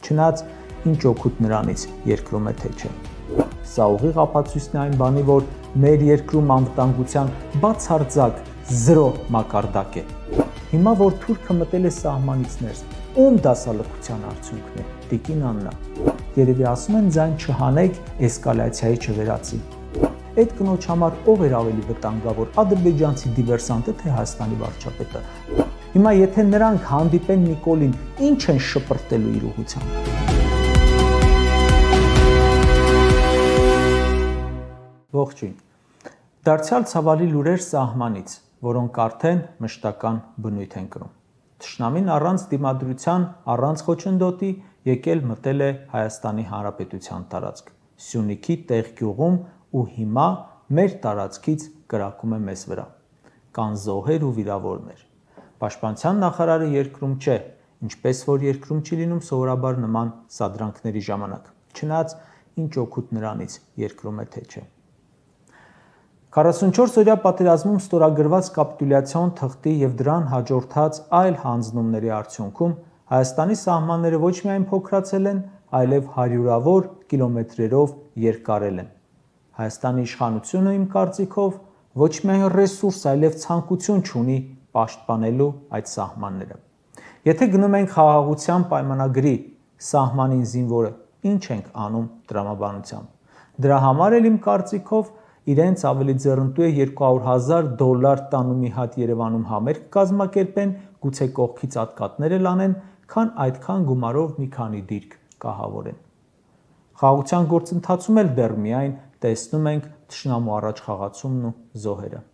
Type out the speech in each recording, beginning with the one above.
Չնայած ինչ օգուտ նրանից, երկրում է թե չէ։ Սա ուղիղ ապացույցն է այն բանի, որ մեր երկրում անվտանգության բացարձակ զրո մակարդակ է։ Հիմա որ թուրքը մտել է սահմանից ներս, ում դասալքության արդյունքն է, տիկին Աննա։ Երևի ասում են ձայն չհանեք, էսկալացիայի չվերածի։ Այդ կնոջ համար ով էր ավելի վտանգավոր, ադրբեջանցի դիվերսանտը, թե Հայաստանի վարչապետը։ Հիմա եթե նրանք հանդիպեն Նիկոլին, ինչ են շպրտելու իր ուղղությամբ։ Ողջույն։ Դարձյալ ցավալի լուրեր սահմանից, որոնք արդեն մշտական բնույթ են կրում։ Թշնամին առանց դիմադրության, առանց խոչընդոտի եկել մտել է Հայաստանի Հանրապետության տարածք, Սյունիքի տեղգյուղում ու հիմա մեր տարածքից կրակում է մեզ վրա։ Կան զոհեր ու վիրավորներ։ Պաշտպանության նախարարը երկրում չէ, ինչպես որ երկրում չի լինում սովորաբար նման սադրանքների ժամանակ, չնայած ինչ օգուտ նրանից, երկրում է թե չէ։ 44-օրյա պատերազմում ստորագրված կապիտուլյացիոն թղթի եւ դրան հաջորդած այլ հանձնումների արդյունքում Հայաստանի սահմանները ոչ միայն փոքրացել են, այլև հարյուրավոր կիլոմետրերով երկարել են։ Հայաստանի իշխանությունը, իմ կարծիքով, ոչ միայն ռեսուրս, այլև ցանկություն չունի պաշտպանելու այդ սահմանները։ Եթե գնում ենք խաղաղության պայմանագրի սահմանին զինվորը, ինչ ենք անում տրամաբանությամբ։ Դրա համար էլ իմ կարծիքով իրենց ավելի ձեռնտու է $200,000 տան ու մի հատ Երևանում համերգ կազմակերպեն, գուցե կողքից ատկատներ էլ անեն, քան այդքան գումարով մի քանի դիրք կահավորեն։ Խաղաղության գործընթացում էլ դեռ միայն տեսնում ենք թշնամու առաջ խաղացումն ու զոհերը։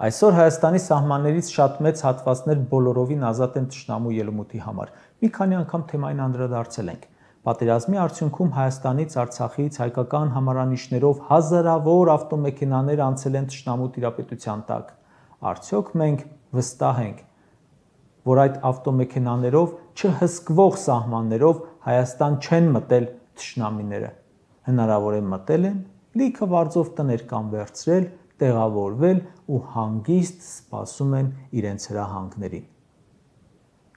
Այսօր Հայաստանի սահմաններից շատ մեծ հատվածներ բոլորովին ազատ են թշնամու ելումուտի համար։ Մի քանի անգամ թեմային անդրադարձել ենք։ Պատերազմի արդյունքում Հայաստանից, Արցախից հայկական համարանիշներով հազարավոր ավտոմեքենաներ անցել են թշնամու տիրապետության տակ։ Արդյոք մենք վստահ ենք, որ այդ ավտոմեքենաներով չհսկվող սահմաններով Հայաստան չեն մտել թշնամիները։ Հնարավոր է մտել են, լիքը վարձով տներ կան վերցրել, տեղավորվել ու հանգիստ սպասում են իրենց հրահանգներին։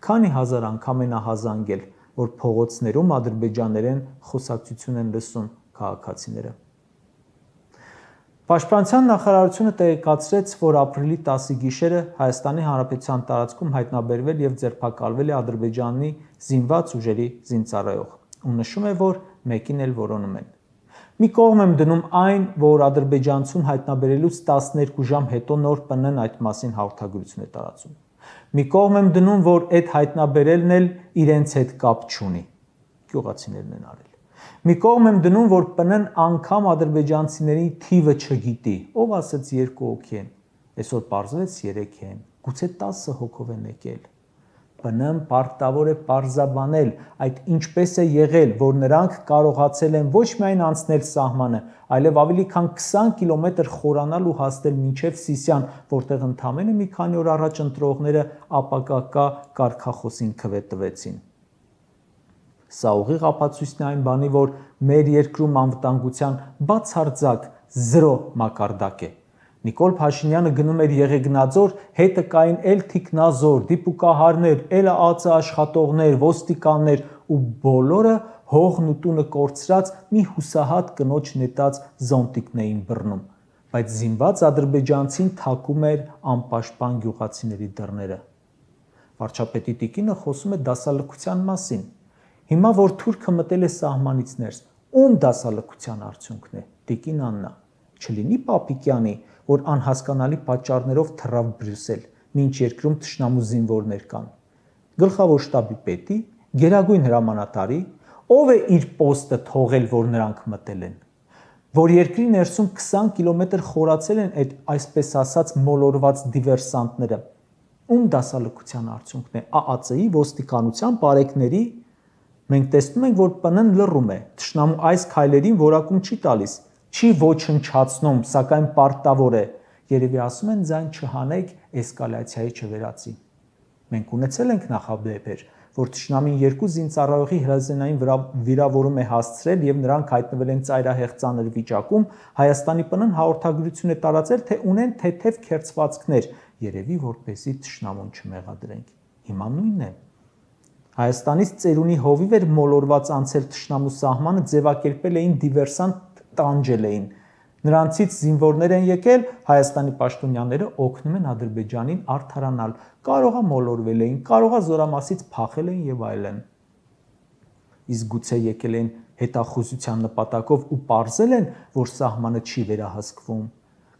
Քանի հազար անգամ են ահազանգել, որ փողոցներում ադրբեջաներեն խոսակցություն են լսում քաղաքացիները։ Պաշտպանության նախարարությունը տեղեկացրեց, որ ապրիլի 10-ի գիշերը Հայաստանի Հանրապետության տարածքում հայտնաբերվել եւ ձերբակալվել է Ադրբեջանի զինված ուժերի զինծառայող, ու նշում է, որ մեկին էլ որոնում են։ Մի կողմ եմ դնում այն, որ ադրբեջանցուն հայտնաբերելուց 12 ժամ հետո նոր ՊՆ-ն այդ մասին հաղորդագրություն է տարածում։ Մի կողմ եմ դնում, որ այդ հայտնաբերելն էլ իրենց հետ կապ չունի, գյուղացիներն են արել։ Մի կողմ եմ դնում, որ ՊՆ-ն անգամ ադրբեջանցիների թիվը չգիտի, ով ասեց 2 հոգի են, այսօր պարզվեց 3 են, գուցե 10 հոգով են եկել։ ՊՆ-ն պարտավոր է պարզաբանել այդ ինչպես է եղել, որ նրանք կարողացել են ոչ միայն անցնել սահմանը, այլև ավելի քան 20 կիլոմետր խորանալ ու հասնել մինչև Սիսիան, որտեղ ընդամենը մի քանի օր առաջ ընտրողները ապակակա կարգախոսին քվե տվեցին։ Սա ուղիղ ապացույցն է այն բանի, որ մեր երկրում անվտանգության բացարձակ զրո մակարդակ է։ Նիկոլ Փաշինյանը գնում էր Եղեգնաձոր, հետը կային էլ թիկնազոր, դիպուկահարներ, էլ ԱԾ աշխատողներ, ոստիկաններ ու բոլորը հողն ու տունը կորցրած մի հուսահատ կնոջ նետած զոնտիկն էին բռնում, բայց զինված ադրբեջանցին թակում էր անպաշտպան գյուղացիների դռները։ Վարչապետի տիկինը խոսում է դասալքության մասին։ Հիմա որ թուրքը մտել է սահմանից ներս, ում դասալքության արդյունքն է, տիկին Աննա, չլինի Պապիկյանի, որ անհասկանալի պատճառներով թռավ Բրյուսել, մինչ երկրում թշնամու զինվորներ կան։ Գլխավոր շտաբի պետի, գերագույն հրամանատարի, ով է իր պոստը թողել, որ նրանք մտել են, որ երկրի ներսում 20 կիլոմետր խորացել են այդ այսպես ասած մոլորված դիվերսանտները։ Ում դասալքության արդյունքն է, ԱԱՑ-ի, ոստիկանության, բարեկների։ Մենք տեսնում ենք, որ ՊՆ-ն լռում է, թշնամու այս քայլերին որակում չի տալիս, չի ոչնչացնում, սակայն պարտավոր է, երևի ասում են ձայն չհանեք, էսկալացիայի չվերածի։ Մենք ունեցել ենք նախադեպեր, որ թշնամին 2 զինծառայողի հրազենային վիրավորում է հասցրել եւ նրանք հայտնվել են ծայրահեղ ծանր վիճակում, Հայաստանի ՊՆ-ն հաղորդագրություն է տարածել, թե ունեն թեթև քերծվածքներ, երևի որպեսզի թշնամուն չմեղադրենք։ Հիմա նույնն է։ Հայաստանից ծերունի հովիվ էր մոլորված անցել թշնամու սահմանը, ձևակերպել էին դիվերսանտ, տանջել էին։ Նրանցից զինվորներ են եկել, Հայաստանի պաշտոնյաները օգնում են Ադրբեջանին արդարանալ, կարողա մոլորվել էին, կարողա զորամասից փախել էին եւ այլն։ Իսկ գուցե եկել են հետախուզության նպատակով ու պարզել են, որ սահմանը չի վերահսկվում։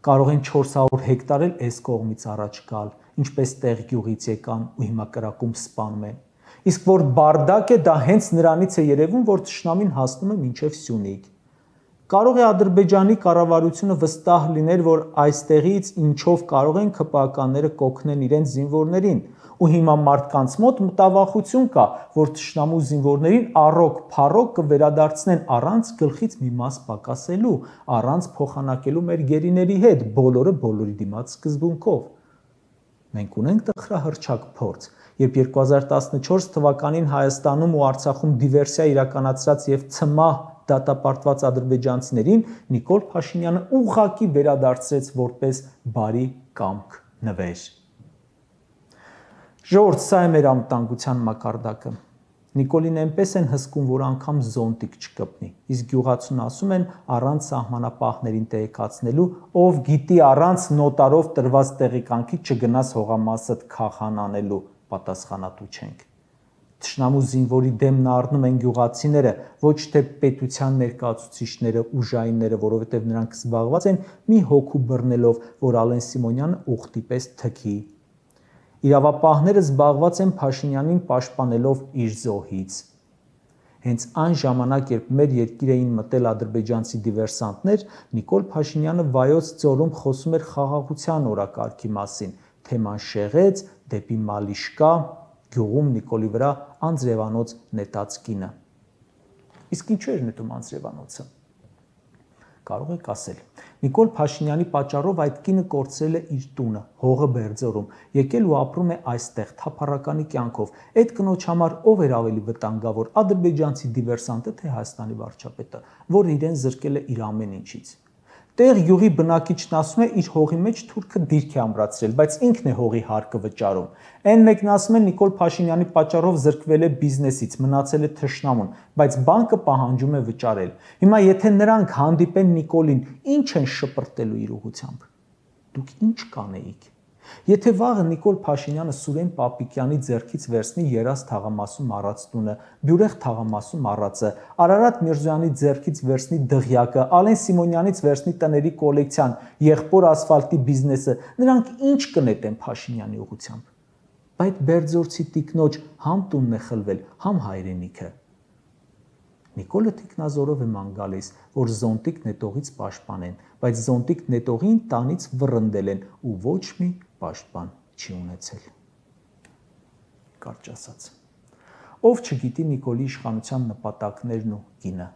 Կարող են 400 հեկտար էլ այս կողմից առաջ գալ, ինչպես տեղ գյուղից եկան ու հիմա կրակում սպանում են։ Իսկ որ բարդակ է, դա հենց նրանից է երևում, որ թշնամին հասնում է մինչև Սյունիք։ Կարող է Ադրբեջանի կառավարությունը վստահ լիներ, որ այստեղից ինչով կարող են ՔՊԱ-ականները կօգնեն իրենց զինվորներին, ու հիմա մարդկանց մոտ մտավախություն կա, որ թշնամու զինվորներին առոք-փառոք կվերադարձնեն առանց գլխից մի մաս պակասելու, առանց փոխանակելու մեր գերիների հետ, բոլորը բոլորի դիմաց սկզբունքով։ Մենք ունենք տխրահռչակ փորձ, երբ 2014 թվականին Հայաստանում ու Արցախում դիվերսիա իրականացրած եւ ցմահ դատապարտված ադրբեջանցիներին Նիկոլ Փաշինյանը ուղղակի վերադարձրեց որպես բարի կամք նվեր։ Ժողովուրդ, սա է մեր անվտանգության մակարդակը։ Նիկոլին այնպես են հսկում, որ անգամ զոնտիկ չկպնի, իսկ գյուղացուն ասում են առանց սահմանապահներին տեղեկացնելու, ով գիտի առանց նոտարով տրված տեղեկանքի չգնաս հողամասդ քաղան անելու, պատասխանատու չենք։ Թշնամու զինվորի դեմն առնում են գյուղացիները, ոչ թե պետության ներկայացուցիչները, ուժայինները, որովհետև նրանք զբաղված են մի հոգու բռնելով, որ Ալեն Սիմոնյանը ուխտի պես թքի։ Իրավապահները զբաղված են Փաշինյանին պաշտպանելով իր զոհից։ Հենց այն ժամանակ, երբ մեր երկիր էին մտել ադրբեջանցի դիվերսանտներ, Նիկոլ Փաշինյանը Վայոց ձորում խոսում էր խաղաղության օրակարգի մասին, թեման շեղեց դեպի Մալիշկա, գյուղում Նիկոլի վրա անձրևանոց նետած կինը։ Իսկ ինչու էր նետում անձրևանոցը։ Կարող եք ասել, Նիկոլ Փաշինյանի պատճառով այդ կինը կորցրել է իր տունը, հողը Բերձորում, եկել ու ապրում է այստեղ թափառականի կյանքով։ Այդ կնոջ համար ով էր ավելի վտանգավոր, ադրբեջանցի դիվերսանտը, թե Հայաստանի վարչապետը, որ իրեն զրկել է իր ամեն ինչից։ Տեղ յուղի բնակիչն ասում է իր հողի մեջ թուրքը դիրք է ամրացրել, բայց ինքն է հողի հարկը վճարում։ Այն մեկն ասում է Նիկոլ Փաշինյանի պատճառով զրկվել է բիզնեսից, մնացել է թշնամուն, բայց բանկը պահանջում է վճարել։ Հիմա եթե նրանք հանդիպեն Նիկոլին, ինչ են շպրտելու իր ուղությամբ։ Դուք ինչ կանեիք։ Եթե վաղը Նիկոլ Փաշինյանը Սուրեն Պապիկյանի ձեռքից վերցնի Երազ թաղամասում առած տունը, Բյուրեղ թաղամասում առածը, Արարատ Միրզոյանի ձեռքից վերցնի Դղյակը, Ալեն Սիմոնյանից վերցնի տների կոլեկցիան, եղբոր ասֆալտի բիզնեսը, նրանք ինչ կնետեն Փաշինյանի ուղությամբ։ Բայց Բերձորցի տիկնոջ համ տունն է խլվել, համ հայրենիքը։ Նիկոլը թիկնազորով է ման գալիս, որ զոնտիկ նետողից պաշտպանեն, բայց զոնտիկ նետողին տանից վռնդել են ու ոչ մի պաշտպան չի ունեցել։ Կարճ ասած, ով չգիտի Նիկոլի իշխանության նպատակներն ու գինը,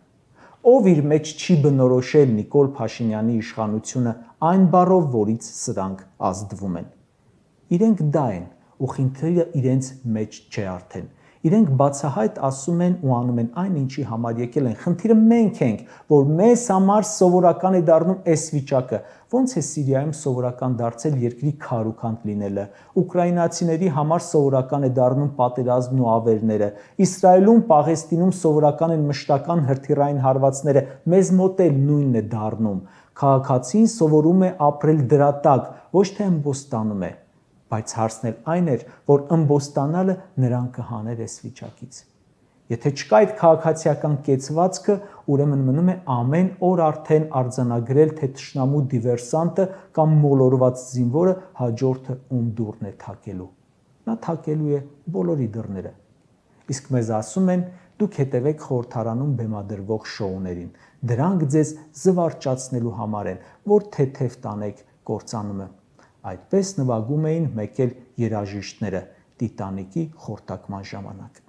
ով իր մեջ չի բնորոշել Նիկոլ Փաշինյանի իշխանությունը այն բառով, որից սրանք ազդվում են։ Իրենք դա են, ու խնդիրը իրենց մեջ չէ արդեն։ Իրենք բացահայտ ասում են ու անում են այն, ինչի համար եկել են։ Խնդիրը մենք ենք, որ մեզ համար սովորական է դառնում այս վիճակը։ Ոնց է Սիրիայում սովորական դարձել երկրի քարուքանդ լինելը, ուկրաինացիների համար սովորական է դառնում պատերազմն ու ավերները, Իսրայելում, Պաղեստինում սովորական են մշտական հրթիռային հարվածները, մեզ մոտ էլ նույնն է դառնում։ Քաղաքացին սովորում է ապրել դրա տակ, ոչ թե ըմբոստանում է։ Բայց հարցն էլ այն էր, որ ըմբոստանալը նրան կհաներ այս վիճակից։ Եթե չկա այդ քաղաքացիական կեցվածքը, ուրեմն մնում է ամեն օր արդեն արձանագրել, թե թշնամու դիվերսանտը կամ մոլորված զինվորը հաջորդը ում դուռն է թակելու։ Նա թակելու է բոլորի դռները։ Իսկ մեզ ասում են, դուք հետևեք խորհրդարանում բեմադրվող շոուներին։ Դրանք ձեզ զվարճացնելու համար են, որ թեթև տանեք կործանումը։ Այդպես նվագում էին մեկ էլ երաժիշտները Տիտանիկի խորտակման ժամանակ։